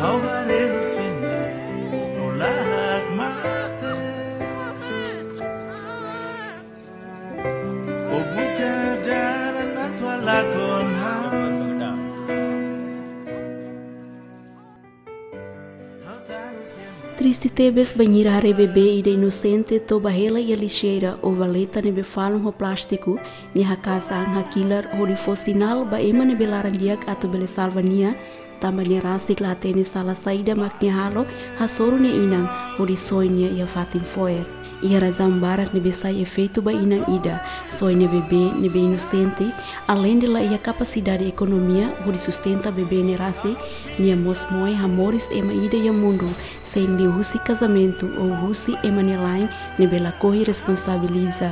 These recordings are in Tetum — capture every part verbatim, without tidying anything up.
Ha'u haree husi ne'e, o larak mate. O buka dalan atu halakon ha'u. Triste tebes bainhira haree bebé ida inosente toba hela iha lixeira ou valeta ne'ebé falun ho plástiku, nia haka'as an hakilar hodi fó sinál ba ema ne'ebé laran-di'ak atu bele salva nia, tanba nia rasik la hatene sala saida mak nia halo, hasoru nia inan hodi soe nia iha fatin fo'er. Iha razaun barak ne'ebé sai efeitu ba inan ida, soe nia bebé ne'ebé inosente, aleinde la iha kapasidade ekonomia hodi sustenta bebé ne'e rasik, nia mós moe hamoris ema ida iha mundu, sein liuhusi kazamentu ou husi ema nia la'en ne'ebé lakohi responsabiliza.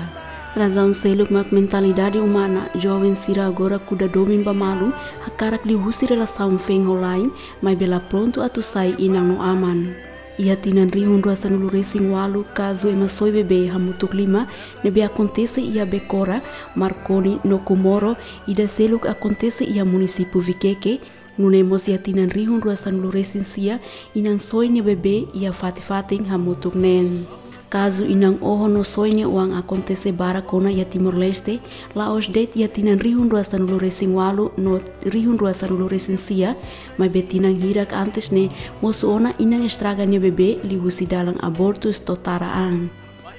Razaun seluk mak mentalidade umana, joven sira agora kuda domin ba malu, hakarak liuhusi relasaun feen ho la'en, maibé la prontu atu sai inan no aman. Iha tinan rihun rua sanulu resin ualu, kazu ema soe bebé hamutuk lima ne'ebé akontese iha Becora, Marconi no Comoro, ida seluk akontese iha munisípiu Viqueque, nune'e mós iha tinan rihun rua sanulu resin sia, inan soe nia bebé iha fatin-fatin hamutuk neen. Kazu inan oho no soe nia oan akontese barak ona iha Timor-Leste, la'ós de'it iha tinan rihun rua sanulu resin ualu no rihun rua sanulu resin sia, maibé tinan hirak antes ne'e, mosu ona inan estraga nia bebé liuhusi dalan abortus to'o tara an.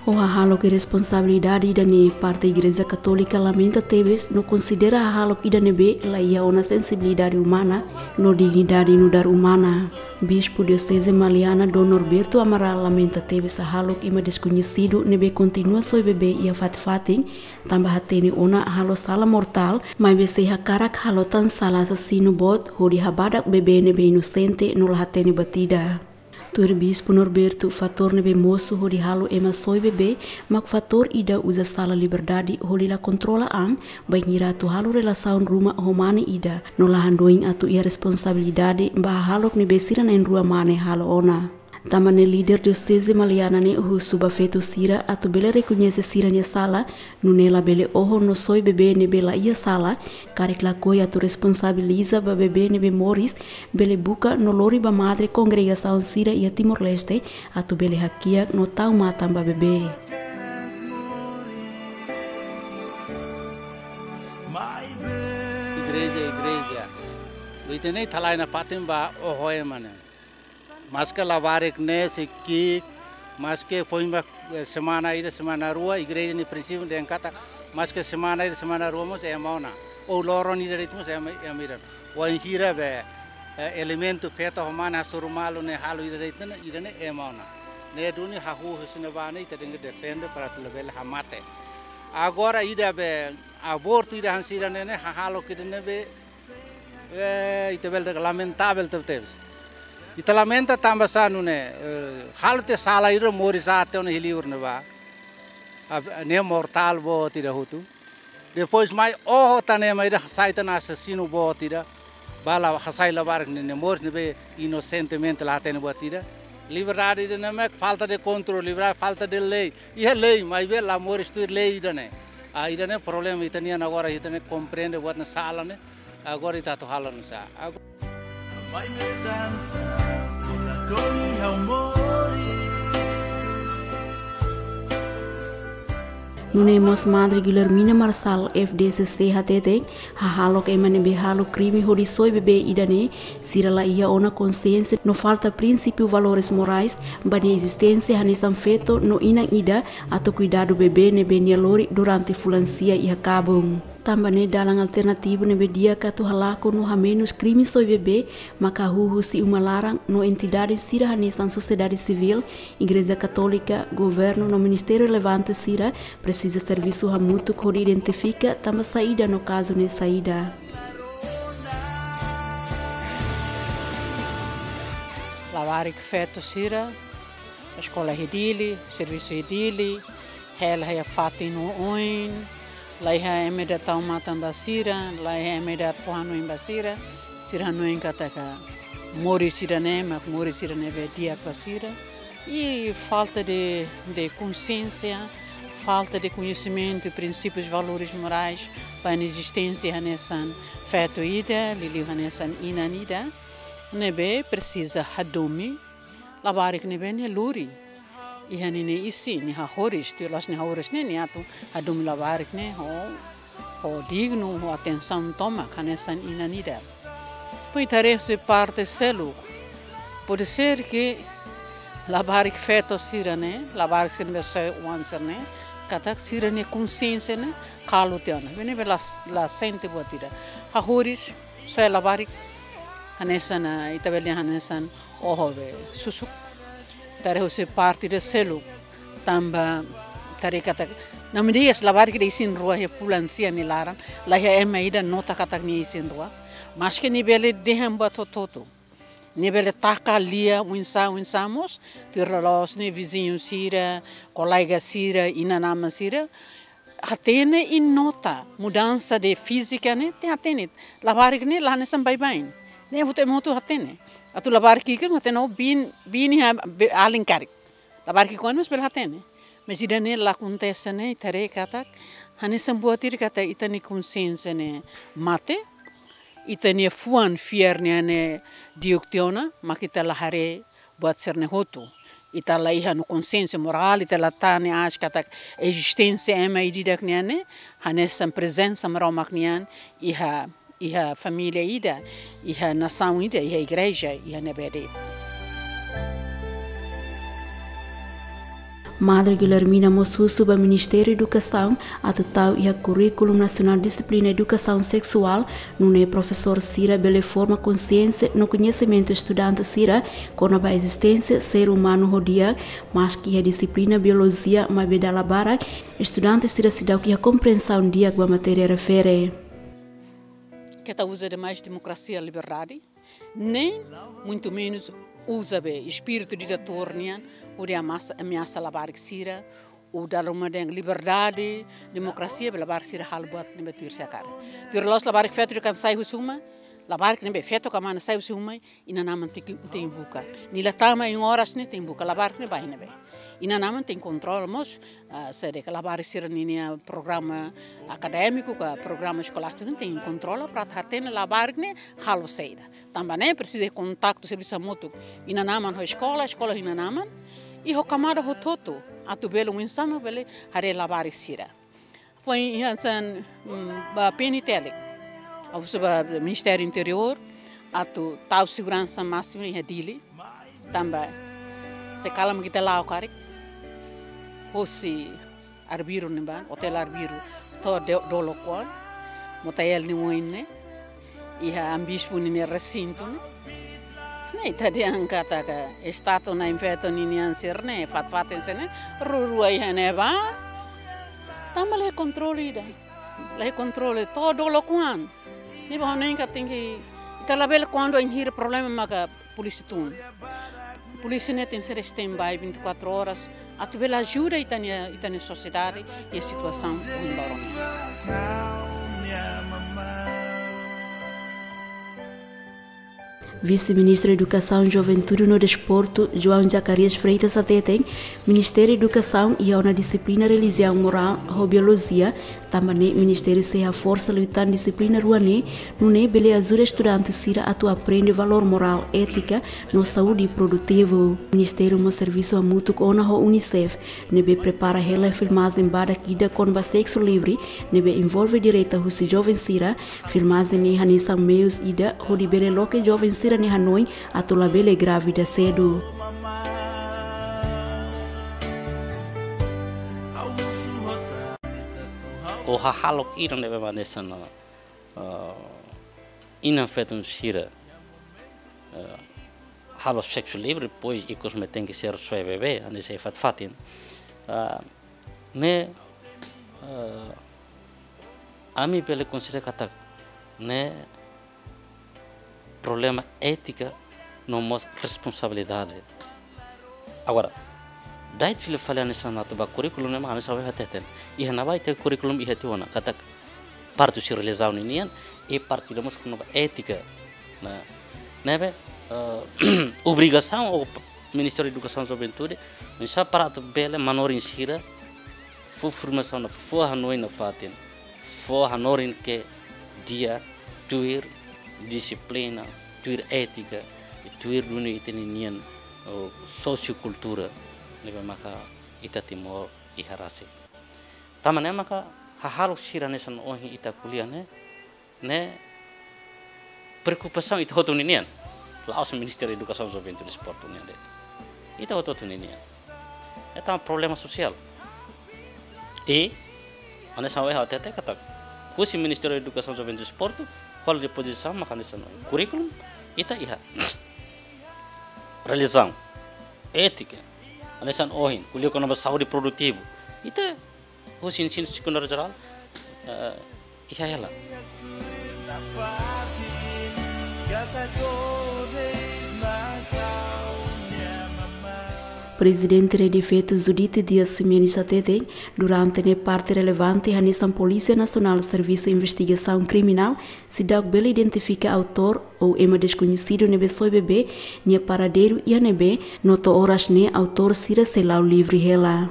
Ho hahalok iresponsabilidade ida-ne'e, parte Igreja Katólika lamenta tebes no konsidera hahalok ida ne'ebé la iha ona sensibilidade umana no dignidade nu'udar umana. Bispu Dioseze Maliana, Dom Norberto Amaral, lamenta tebes hahalok ema deskoñesidu ne'ebé kontinua soe bebé iha fatin-fatin, tanba hatene ona halo sala mortál, maibé sei hakarak halo tan sala asasinu boot hodi habadak bebé ne'ebé inosente no la hatene buat ida. Tuir Bispu Norberto, fatór ne'ebé mosu hodi halo ema soe bebé mak fatór ida uza sala liberdade hodi la kontrola an, bainhira atu halo relasaun ruma ho mane ida, no la hanoin atu iha responsabilidade ba hahalok ne'ebé sira na'in-rua mane halo ona. Tanba ne'e líder Dioseze Maliana ne'e husu ba feto sira atu bele rekoñese sira-nia sala, nune'e labele oho no soe bebé ne'ebé la iha sala, karik lakohi atu responsabiliza ba bebé ne'ebé moris, bele buka no lori ba madre kongregasaun sira iha Timor-Leste, atu bele hakiak no tau matan ba bebé. Igreja, igreja. Ita-nia iha-ne'e iha fatin ba oho ema ne'e. Maske labarik ne'e sei ki'ik, maske foin ba, eh, semana ida, semana rua, igreja nia prinsípiu dehan katak, maske semana ida, semana rua mós ema ona. Ou loron ida de'it mós ema, ema ida. Wainhira be, eh, elementu feto ho mane hasoru malu ne'e halo ida de'it ne'e, ida-ne'e ema ona. Ne'e duni hahú husi ne'ebá ne'e ita tenke defende para atu labele hamate. Agora ida be, abortu ida hanesan ida-ne'e ne'e, hahalok ida-ne'e be, eh, ita bele dehan lamentavel tebetebes. Ita lamenta tanba sá nune'e, eh, halo tiha sala ida moris aat ona iha liur ne'ebá. Ab-, ne'e mortál boot ida hotu. Depois mai oho tan ema ida sai tan asasinu boot ida. Ba la hasai labarik ne'e, ne'e moris ne'ebé inosentemente la hatene buat ida. Liberdade ida-ne'e mak falta de kontrolu, liberdade falta de lei. Iha lei, maibé la moris tuir lei ida-ne'e. Ah, ida-ne'e problema ita-nian agora, ita-nia komprende buat ne'e sala ne'e. Agora ita atu halo nu'usá. Agora. Nune'e mós Madre Guilhermina Marçal, F D C C, hateten, hahalok ema ne'ebé halo krime hodi soe bebé ida-ne'e, sira la iha ona konsiénsia no falta prinsípiu valores morais ba nia ezisténsia hanesan feto no inan ida atu kuidadu bebé ne'ebé nia lori durante fulan sia iha kabun. Tanba ne'e dalan alternativu ne'ebé di'ak atu halakon no hamenus krime soe bebé maka hahú husi uma laran no entidade sira hanesan sosiedade sivíl, Igreja Katólika, governu no ministériu relevante sira presiza servisu hamutuk hodi identifika tanba saida no kazu ne'e saida. Labarik feto sira, eskola iha Dili, servisu iha Dili, hela iha fatin oioin, la iha ema ida tau matan ba sira, la iha ema ida fó hanoin ba sira, sira hanoin katak moris ida-ne'e mak moris ida ne'ebé di'ak ba sira. I falta de, de konsiénsia, falta de koñesimentu, prinsípius, valores morais, ba nia ezisténsia hanesan feto ida, liuliu hanesan inan ida. Ne'ebé presiza hadomi labarik ne'ebé nia lori iha ninia isin, nia hahoris, tuir la'ós nia hahoris ne'e, nia atu hadomi labarik ne'e ho, ho dignu, ho atensaun tomak hanesan inan ida. Foin ita haree husi parte seluk, pode ser ke labarik feto sira-ne'e, labarik sira ne'ebé soe oan sira-ne'e, katak sira-nia konsiénsia ne'e kalu tiha ona. Ne'ebé la, la sente buat ida. Hahoris, soe labarik hanesan, ah, ita bele hanesan oho be susuk. Ita haree husi parte ida seluk, tanba ita haree katak, namdias labarik ida isin-rua iha fulan sia nia laran, la iha ema ida nota katak nia isin-rua. Maske nia bele dehan buat hotu-hotu, nia bele taka lia oinsá, oinsá mós, tuir loloos ne'e viziñu sira, kolega sira, inan-aman sira hatene i nota mudansa de fízika ne'e, tenke hatene. Labarik ne'e la hanesan baibain. Ne'e buat ema hotu hatene. Atu labarik ki'ik hatene, oh, biin, biin iha be-, alin karik. Labarik ki'ik-oan mós bele hatene. Mas ida-ne'e la akontese ne'e, ita haree katak hanesan buat ida katak ita-nia konsiénsia ne'e mate, ita-nia fuan fiar nian ne'e diuk tiha ona, mak ita la haree buat sira-ne'e hotu. Ita la iha no konsiénsia morál, ita la hatene aas katak ezisténsia ema ida-idak nian ne'e hanesan prezensa Maromak nian iha, iha família ida, iha nasaun ida, iha igreja, iha ne'ebé de'it. Madre Guilhermina mós husu ba Ministériu Edukasaun atu tau iha Kurríkulu Nasionál dixiplina edukasaun seksuál, nune'e profesór sira bele forma konsiénsia no koñesimentu estudante sira kona-ba ezisténsia ser umanu ho di'ak, maske iha dixiplina biolojia maibé dala barak estudante sira seidauk iha komprensaun di'ak ba matéria refere. Keta uza demais demokrasia, liberdade, nem muito menos uza be espíritu ditatór nian hodi ameasa, ameasa labarik sira, ou dala ruma dehan liberdade, demokrasia, be labarik sira halo buat ne'ebé tuir sira hakarak. Tuir loloos labarik feto ida kan sai husi uma, labarik ne'ebé feto ka mana sai husi uma, inan-aman tenke, tenke buka. Nia la tama iha oras ne'e tenke buka, labarik ne'e bá iha ne'ebé. Inan-aman tenke kontrola mós, ah, saida ka labarik sira ninia programa akadémiku ka programa eskolástiku tenke kontrola para atu hatene labarik ne'e halo saida. Tanba ne'e presiza kontaktu servisu hamutuk inan-aman ho eskola, eskola ho inan-aman, i ho kamada hotu-hotu, atu bele oinsá mak bele haree labarik sira. Foin iha hanesan, mm, ba P N T L, ha'u husu ba Ministériu Interiór atu tau seguransa másima iha Dili, tanba se kalan mak ita la'o karik hosi Arbiru ne'ebá, Hotel Arbiru, to'o de-, Dolok-oan, Motael nia oin ne'e, iha Amu Bispu ninia resintu ne'e. Ne'e ita dehan katak estátua na'in feto ninian sira-ne'e, fatin-fatin sira-ne'e, rua-rua iha ne'ebá. Tanba la iha kontrole ida. La iha kontrole to'o Dolok-oan. Ne'ebé ha'u hanoin katak tenke, ita labele kuandu bainhira problema maka polísia tun. Polísia ne'e tenke ser standby vinte e quatro horas, atu bele ajuda ita-nia, ita-nia sosiedade iha situasaun ohin loron ne'e. Vise-Ministru Edukasaun, Juventude no Desportu, João Zacarias Freitas hateten, Ministériu Edukasaun iha ona dixiplina relijiaun, morál ho biolojia, tanba ne'e Ministériu sei haforsa liután dixiplina rua ne'e, nune'e bele ajuda estudante sira atu aprende valór morál, étika no saúde produtivu. Ministériu mós servisu hamutuk ona ho UNICEF, ne'ebé prepara hela filmajen badak ida kona-ba sexu livre, ne'ebé envolve direta husi joven sira. Filmajen ne'e hanesan meius ida hodi bele loke joven sira-nia hanoin atu labele grávida sedu. Ou hahalok ida ne'ebé hanesan, ah, inan-feton sira, ah, halo sexu livre, depois ikus mai tenke ser soe bebé, hanesan fatin-fatin. Ah, ne'e, ah, ami bele konsidera katak ne'e problema étika no mós responsabilidade. Agora, da'et fila fali hanesan atu ba kurríkulu ne'e mak hanesan ohin hateten. Iha ne'ebá ita kurríkulu iha tiha ona, katak parte husi relijiaun ninian, i parte ida mós kona-ba étika. Ne'e, ne'ebé, eh, obrigasaun ho Ministériu Edukasaun, Juventude, oinsá para atu bele manorin sira fó formasaun, fó hanoin nafatin, fó hanorin ke di'ak tuir dixiplina, tuir étika, Tuir duni ita-nia nian, oh, sosiokultura ne'ebé maka ita Timor iha rasik. Tanba ne'e maka hahalok sira hanesan ohin ita ko'alia ne'e, ne'e preokupasaun ita hotu ninian. La'ós Ministériu Edukasaun, Juventude, Desportu nian de'it. Ita hotu-hotu ninian. Ita problema sosiál. I hanesan ohin ha'u hatete katak, husi Ministériu Edukasaun, Juventude, Desportu, halo dispozisaun maka hanesan ohin. Kurríkulu, ita iha. Relijiaun, étika, hanesan ohin, ko'alia kona-ba saúde produtivu. Ita, husi ensinu sekundáriu jerál, eh, iha hela. Prezidente Rede Feto Judite Dias Ximenes hatete, durante ne'e parte relevante hanesan Polísia Nasionál, Servisu Investigasaun Kriminál, seidauk bele identifika autór ou ema deskoñesidu ne'ebé soe bebé nia paradeiru iha ne'ebé, no to'o oras ne'e autór sira sei la'o livre hela.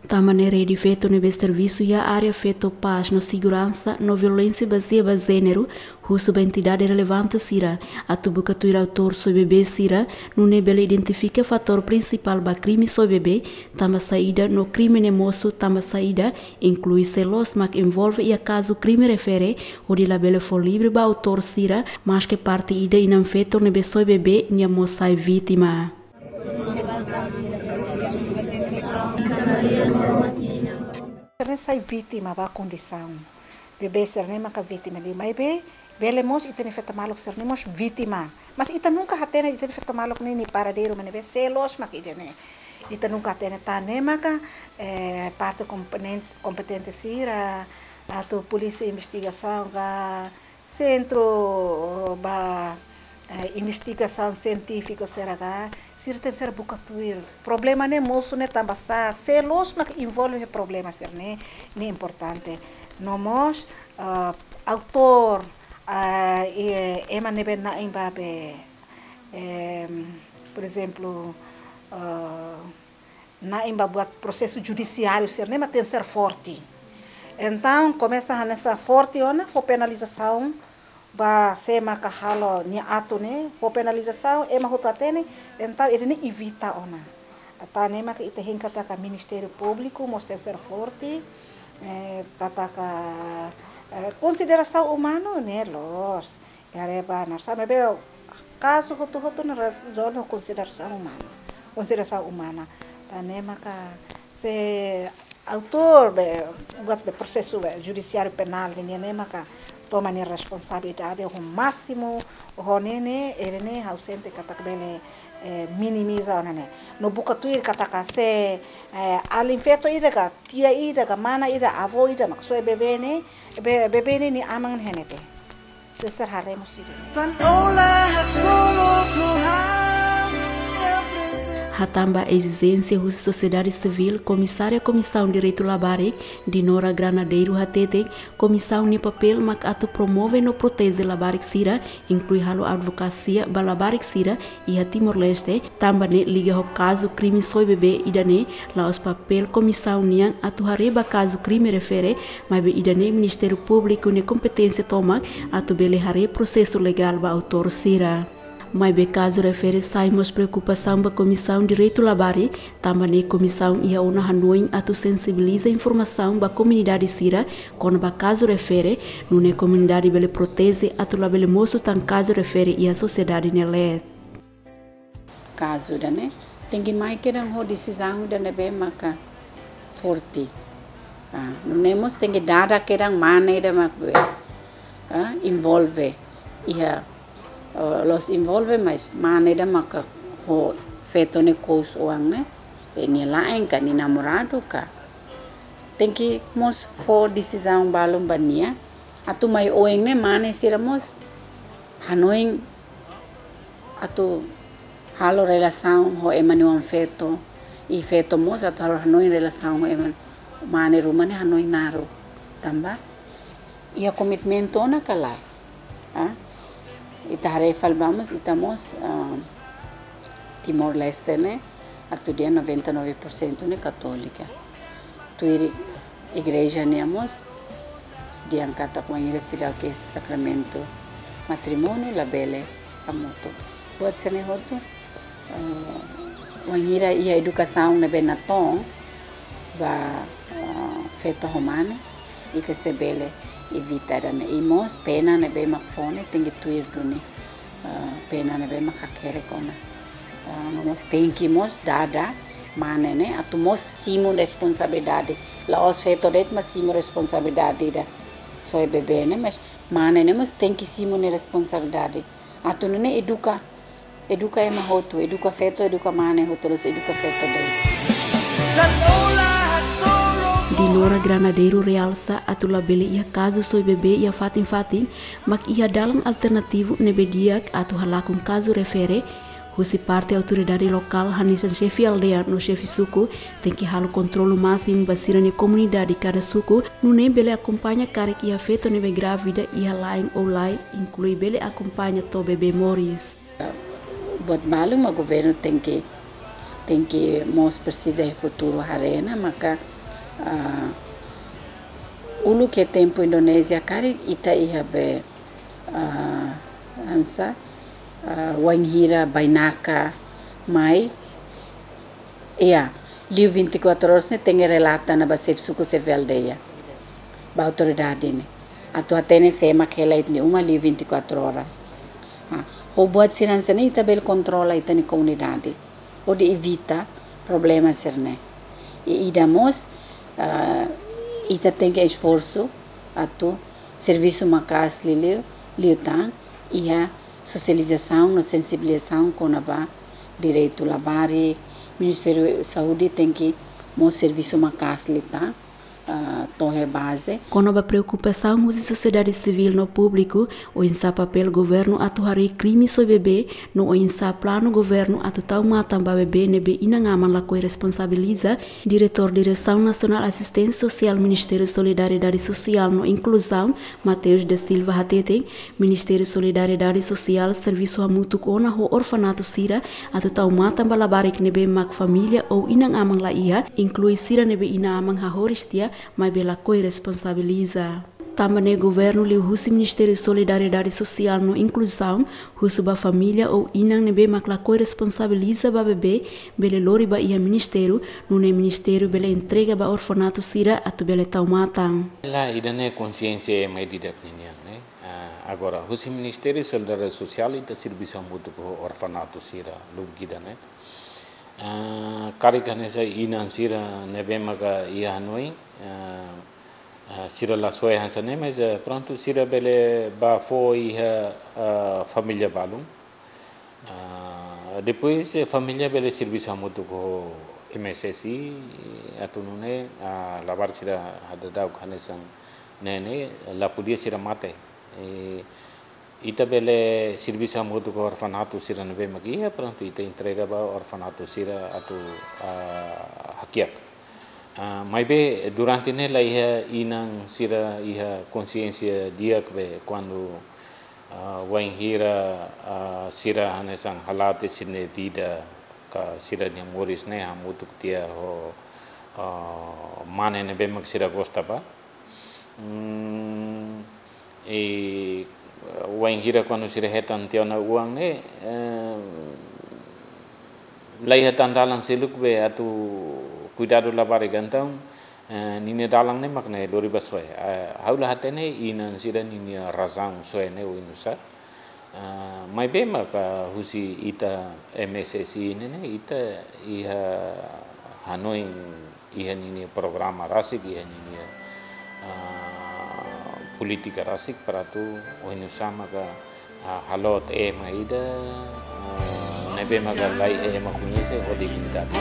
Tanba ne'e Rede Feto ne'ebé servisu iha área feto, pás no seguransa no violénsia bazeia ba jéneru, husu ba entidade relevante sira atu buka tuir autór soe bebé sira, nune'e bele identifika fatór prinsipál ba krime soe bebé, tanba saida no krime ne'e mosu tanba saida, inklui sé loos mak envolve iha kazu krime refere, hodi labele fó livre ba autór sira, maske parte ida inan feto ne'ebé soe bebé nia mós sai vítima. Sira-ne'e sai vítima ba kondisaun. Bebé sira-ne'e maka vítima liu. Maibé, bele mós ita-nia feto maluk sira-ne'e mós vítima. Mas ita nunka hatene ita-nia feto maluk ne'e nia paradeiru mak ne'ebé, sé loos mak ida-ne'e. Ita nunka hatene, tan ne'e maka, eh, parte kompenen-, kompetente sira, atu polísia investigasaun ka, sentru ba, eh, investigasaun sientífika sira ka, sira tenke ser buka tuir. Problema ne'e mosu ne'e tanba sá, sé loos mak envolve iha problema sira-ne'e, ne'e importante. No mós, eh, autór, eh, i ema ne'ebé na'in ba be, em, por ezemplu, eh, na'in ba buat prosesu judisiáriu sira-ne'e mak tenke ser forte. Entaun, komesa hanesan forte ona, fó penalizasaun ba sé maka halo nia atu ne'e, fó penalizasaun, ema hotu hatene, entaun ida-ne'e evita ona. Tan ne'e maka ita hein katak Ministériu Públiku mós tenke ser forte, eh, katak, eh, konsiderasaun umanu ne'e loos. Haree ba nasaun, maibé kazu hotu-hotu ne'e rezolve ho konsiderasaun umana. Konsiderasaun umana. Tan ne'e maka se autór be, buat be prosesu be judisiáriu penál nian ne'e maka toma nia responsabilidade ho másimu, ho ne'e ne'e, ida-ne'e ha'u sente katak bele, eh, minimiza ona ne'e. No buka tuir katak se, eh, alin feto ida ka, tia ida ka, mana ida, avó ida mak soe bebé ne'e, be-, bebé ne'e nia aman iha ne'ebé. Tenke ser haree mós ida-ne'e. Tan ola hak solo Tuhan, ya presente. Hatán ba ezijénsia husi sosiedade sivíl, Komisária Komisaun Direitu Labarik, Dinora Granadeiro hatete, komisaun nia papél mak atu promove no proteje labarik sira, inklui halo advokasia ba labarik sira iha Timor-Leste, tanba ne'e liga ho kazu krime soe bebé ida-ne'e, la'ós papél komisaun nian atu haree ba kazu krime refere, maibé ida-ne'e Ministériu Públiku nia kompeténsia tomak atu bele haree prosesu legál ba autór sira. Maibé kazu refere sai mós preokupasaun ba Komisaun Direitu Labarik, tanba ne'e komisaun iha ona hanoin atu sensibiliza informasaun ba komunidade sira kona-ba kazu refere, nune'e komunidade bele proteje atu labele mosu tan kazu refere iha sosiedade nia leet. Kazu ida-ne'e tenke mai kedan ho desizaun ida ne'ebé maka forte. Ah, nune'e mós tenke dada kedan mane ida mak be, ah, envolve iha, ah, la'ós envolve, mas mane ida maka ho feto ne'e kous oan ne'e, be nia la'en ka nia namoradu ka. Tenke mós fó desizaun balun ba nia, atu mai oin ne'e mane sira mós hanoin atu halo relasaun ho ema nia oan feto, i feto mós atu halo hanoin relasaun ho ema mane ruma ne'e hanoin naruk. Tanba iha komitmentu ona ka lae. Ah? Ita haree fali ba mós, ita mós, ah, Timor-Leste ne'e, atu dehan noventa e nove por cento ne'e katólika. Tuir igreja nian mós, dehan katak wainhira seidauk iha sakramentu matrimóniu labele hamutuk. Buat sira-ne'e hotu, eh, wainhira iha edukasaun ne'ebé natoon ba, eh, feto ho mane, ita sei bele evita ida-ne'e. I mós pena ne'ebé mak fó ne'e tenke tuir duni, eh, pena ne'ebé mak hakerek ona. Eh, no mós tenke mós dada mane ne'e atu mós simu responsabilidade. La'ós feto de'it mak simu responsabilidade ida soe bebé ne'e, mas mane ne'e mós tenke simu nia responsabilidade. Atu nune'e eduka, eduka ema hotu, eduka feto, eduka mane hotu, la'ós eduka feto de'it. Dinora Granadeiru realsa atu labele iha kazu soe bebé iha fatin-fatin, mak iha dalan alternativu ne'ebé di'ak atu halakon kazu refere, husi parte autoridade lokál hanesan xefe aldeia no xefe suku, tenke halo kontrolu másimu ba sira-nia komunidade kada suku, nune'e bele akompaña karik iha feto ne'ebé grávida iha la'en ou lae, inklui bele akompaña to'o bebé moris. Buat balu mak governu tenke, tenke mós presiza iha futuru haree ona, maka, ah, uluk iha tempu Indonézia karik ita iha be, ah, hanesan, ah, wainhira bainaka mai, iha, liu vinte e quatro horas ne'e tenke relata ona ba xefe suku, xefe aldeia, ba autoridade ne'e. Atu hatene sé mak hela iha nia uma liu vinte e quatro horas. Ah, ho buat sira hanesan ne'e ita bele kontrola ita-nia komunidade hodi evita problema sira-ne'e. I ida mós, ah, ita tenke esforsu atu servisu maka'as liuliu, liután iha sosializasaun no sensibilizasaun kona-ba direitu labarik. Ministériu Saúde tenke mós servisu maka'as liután, ah, to'o iha baze. Kona-ba preokupasaun husi sosiedade sivíl no públiku, oinsá papél governu atu harii krime soe bebé, no oinsá planu governu atu tau matan ba bebé ne'ebé inan-aman lakohi responsabiliza, Diretór Diresaun Nasionál Asisténsia Sosiál Ministériu Solidariedade Sosiál no Inkluzaun, Mateus da Silva hateten, Ministériu Solidariedade Sosiál servisu hamutuk ona ho orfanatu sira atu tau matan ba labarik ne'ebé mak família ou inan-aman la iha, inklui sira ne'ebé inan-aman hahoris tiha, maibé lakohi responsabiliza. Tanba ne'e governu liuhusi Ministériu Solidariedade Sosiál no Inkluzaun husu ba família ou inan ne'ebé mak lakohi responsabiliza ba bebé bele lori ba iha ministériu, nune'e ministériu bele entrega ba orfanatu sira atu bele tau matan. Lae, ida-ne'e konsiénsia ema ida-idak ninian, ne'e. Ah, agora, husi Ministériu Solidariedade Sosiál ita servisu hamutuk ho orfanatu sira, lubuk ida-ne'e. Ah, karik hanesan inan sira ne'ebé maka iha hanoin, ah, ah, sira la soe hanesan ne'e, mas, eh, prontu, sira bele bá fó iha, ah, família balun. Ah, depois, eh, família bele servisu hamutuk ho M S S I, atu nune'e, ah, labarik sira hadadauk hanesan ne'e ne'e, la podia sira mate. Eh, ita bele servisu hamutuk ho orfanatu sira ne'ebé mak iha, prontu, ita entrega ba orfanatu sira atu, ah, hakiak. Ah, maibé durante ne'e la iha inan sira iha konsiénsia di'ak be kuandu, ah, wainhira, ah, sira hanesan hala'o tiha sira-nia vida ka sira-nia moris ne'e hamutuk tiha ho, ah, mane ne'ebé mak sira gosta ba. Hmm, i wainhira kuandu sira hetan tiha ona oan ne'e, eh, la iha tan dalan seluk be atu kuidadu labarik, entaun, eh, ninia dalan ne'e mak ne'e, lori ba soe. Eh, ha'u la hatene inan sira ninia razaun soe ne'e oinsá. Ah, maibé maka husi ita M S S I ne'e ne'e, ita iha hanoin, iha ninia programa rasik, iha ninia, ah, polítika rasik para atu oinsá maka, ah, halo tiha ema ida, ah, ne'ebé maka la iha ema koñese ho dignidade.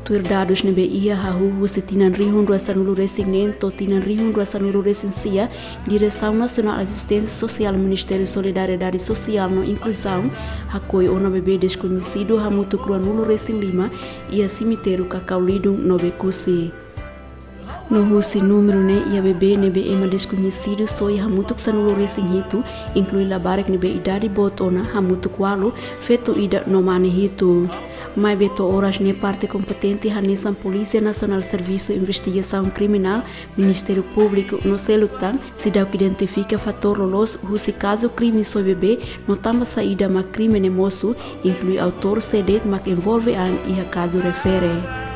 Tuir dadus ne'ebé iha hahú husi tinan rihun rua sanulu resin neen to'o tinan rihun rua sanulu resin sia, Diresaun Nasionál Asisténsia Sosiál Ministériu Solidariedade Sosiál no Inkluzaun hakoi ona bebé deskoñesidu hamutuk ruanulu resin lima iha semitériu Kakaulidung no Bekusi. No husi númeru ne'e iha bebé ne'ebé ema deskoñesidu soe hamutuk sanulu resin hitu, inklui labarik ne'ebé idade boot ona hamutuk ualu, feto ida no mane hitu. Maibé to'o oras ne'e parte kompetente hanesan Polísia Nasionál, Servisu Investigasaun Kriminál, Ministériu Públiku no seluk tan seidauk identifika fatór loloos husi kazu krime soe bebé no tanba saida mak krime ne'e mosu, inklui autór sé de'it mak envolve an iha kazu refere.